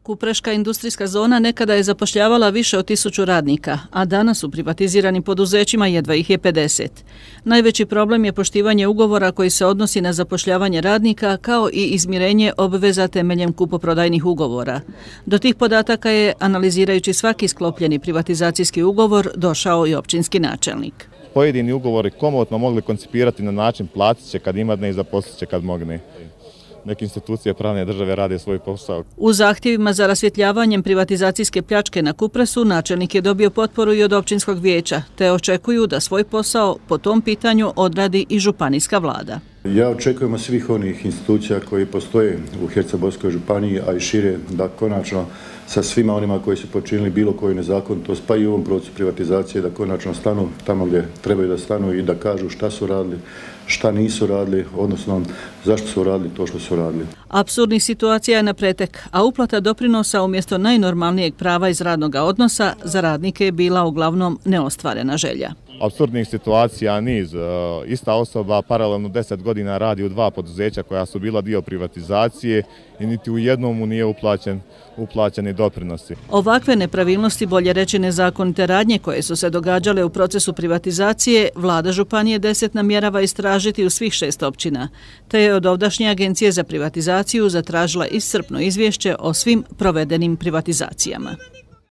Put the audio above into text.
Kupreška industrijska zona nekada je zapošljavala više od 1000 radnika, a danas u privatiziranim poduzećima jedva ih je 50. Najveći problem je poštivanje ugovora koji se odnosi na zapošljavanje radnika kao i izmirenje obveza temeljem kupoprodajnih ugovora. Do tih podataka je, analizirajući svaki sklopljeni privatizacijski ugovor, došao i općinski načelnik. Pojedini ugovori komotno mogli koncipirati na način platit će kad imadne i zaposlit će kad mogne. Neke institucije pravne države rade svoj posao. U zahtjevima za rasvjetljavanjem privatizacijske pljačke na Kupresu načelnik je dobio potporu i od općinskog vijeća, te očekuju da svoj posao po tom pitanju odradi i županijska vlada. Ja očekujem od svih onih institucija koji postoje u Hercegovačkoj županiji, a i šire, da konačno sa svima onima koji su počinili bilo koju nezakonitost, pa i u ovom procesu privatizacije, da konačno stanu tamo gdje trebaju da stanu i da kažu šta su radili, šta nisu radili, odnosno zašto su radili to što su radili. Apsurdnih situacija je na pretek, a uplata doprinosa umjesto najnormalnijeg prava iz radnog odnosa za radnike je bila uglavnom neostvarena želja. Apsurdnih situacija niz. Ista osoba paralelno 10 godina radi u 2 poduzeća koja su bila dio privatizacije i niti u jednom mu nije uplaćeni doprinosi. Ovakve nepravilnosti, bolje reći nezakonite radnje koje su se događale u procesu privatizacije, vlada Županije 10 namjerava istražiti u svih 6 općina, te je od ovdašnje Agencije za privatizaciju zatražila iscrpno izvješće o svim provedenim privatizacijama.